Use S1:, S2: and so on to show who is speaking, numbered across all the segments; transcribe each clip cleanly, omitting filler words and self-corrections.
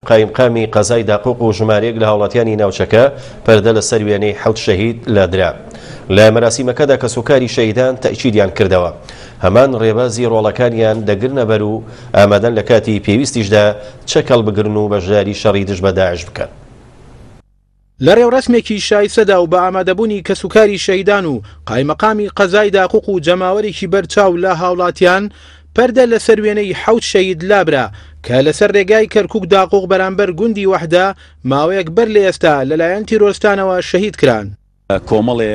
S1: قایمقامی قەزای داقوق و ژمارەیەک لە هاوڵاتیانی ناوچەکە پەردە لەسەر وێنەی حەوت شەهید لادرا. لە مەراسیمەکەدا کەسوکاری شەهیدان تەئکیدیان کردەوە هەمان ڕێبازی ڕۆڵەکانیان دەگرنەبەر و ئامادەن لە کاتی پێویستیشدا چەک هەڵبگرن و بەشداری شەڕی دژ بە داعش بکەن.
S2: لە رێوڕەسمێکی شایستەدا و بە ئامادەبوونی کەسوکاری شەهیدان و قایمەقامی قەزای داقوق و جەماوەرێکی بەرچاو لە هاوڵاتیان، پەردە لەسەر وێنەی حەوت شەهید لابرا کە لەسەر رێگای کەرکوک داقوق بەرامبەر گوندی وەحدە ماوەیەک بەر لە ئێستا لەلایەن تیرۆرستانەوە شەهید کران.
S3: کۆمەڵێ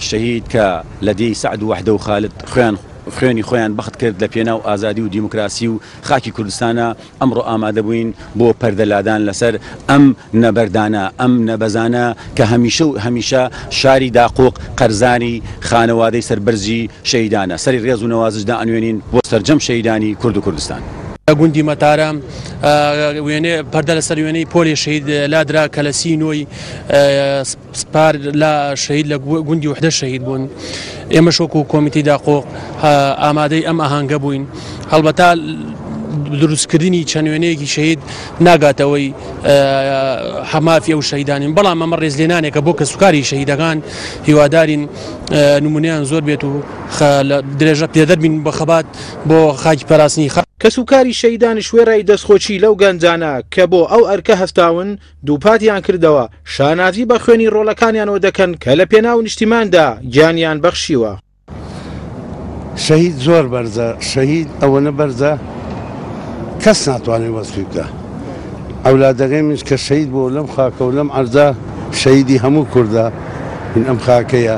S3: شەهید کە لە دێی سەعد و وەحدە و خالد خوێن خوێنی خۆیان بەخت کرد لە پێناو ئازادی و دیموکراسی و خاکی کوردستانە ئەمڕۆ ئامادە بووین بۆ پەردە لادان لەسەر ئەم نەبەردانە ئەم نەبەزانە کە هەمیشە و هەمیشە شاری داقوق قەرزاری خانەوادەی سەربەرزی شەهیدانە سەری ڕێز و نەوازش دائەنوێنین بۆ سەرجەم شەهیدانی کورد و کوردستان.
S4: لە گوندی مەتارە وێنەی پەردە لەسەر وێنەی پۆلی شەهید لادرا کە لە سی نۆی پار لە شەهید لە گوندی وحدە شەهید بوون. ئێمەش وەکو کۆمیتەی داقۆق ئامادەی ئەم ئاهەنگە بووین. هەڵبەتە دروستکردنی چەند وێنەیەکی شەهید ناگاتەوەی حەمافی ئەو شەهیدانین، بەڵام ئەمە ڕێزلێنانێکە بۆ کەسوکاری شەهیدەکان. هیوادارین نمونەیان زۆر بێت و درێژە پێدەر بین بە خەبات بۆ خاکی پاراستنی خاک.
S2: کەسوکاری شەهیدانیش وێڕای دەستخۆشی لەو گەنجانە کە بۆ ئەو ئەرکە هەستاون، دووپاتیان کردەوە، شانازی بە خوێنی ڕۆڵەکانیانەوە دەکەن کە لە پێناو نیشتیماندا گیانیان بەخشیوە.
S5: شەهید زۆر بەرزە، شەهید ئەوەنە بەرزە کەس ناتوانێت وەسفی بکا. ئەولادەکەی منیش کە شەهید بووە لەم خاکە و لەم عەرزە شەهیدی هەموو کوردە، من ئەم خاکەیە.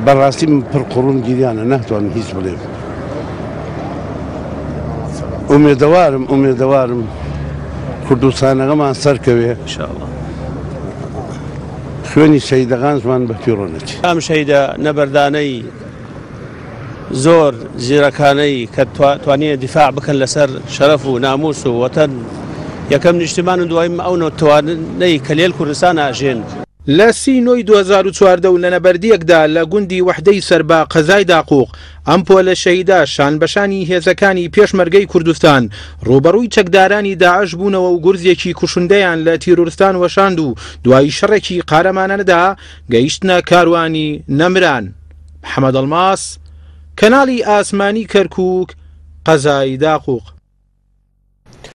S5: بەڕاستی من پڕ قوڕم گریانە ناتوانم هیچ بڵێم. ئومێدەوارم ئومێدەوارم کوردستانەکەمان سەرکەوێ خوێنی شەهیدەکانشمان بە فیڕۆ نەچێ.
S6: ئەم شەهیدە نەبەردانەی زۆر زیرەکانەی کە توانیان دیفاع بکەن لەسەر شەرەف و ناموس و وەتەن یەکەم نیشتیمان و دواییم ئەو نەتەوانەی کە لێل کوردستان ئاژێن.
S2: لە سی نۆی 2014 و لە نەبەردییەکدا لە گوندی وەحدەی سەر بە قەزای داقوق، ئەم پۆلە شەهیدە شانبەشانی هێزەکانی پێشمەرگەی کوردستان ڕووبەڕووی چەکدارانی داعش بوونەوە و گورزێکی کوشندەیان لە تیرۆرستان وەشاند و دوای شەڕێکی قارەمانانەدا گەیشتنە کاروانی نەمران. محەمەد ئەڵماس، کەناڵی ئاسمانی کەرکووک، قەزای داقوق.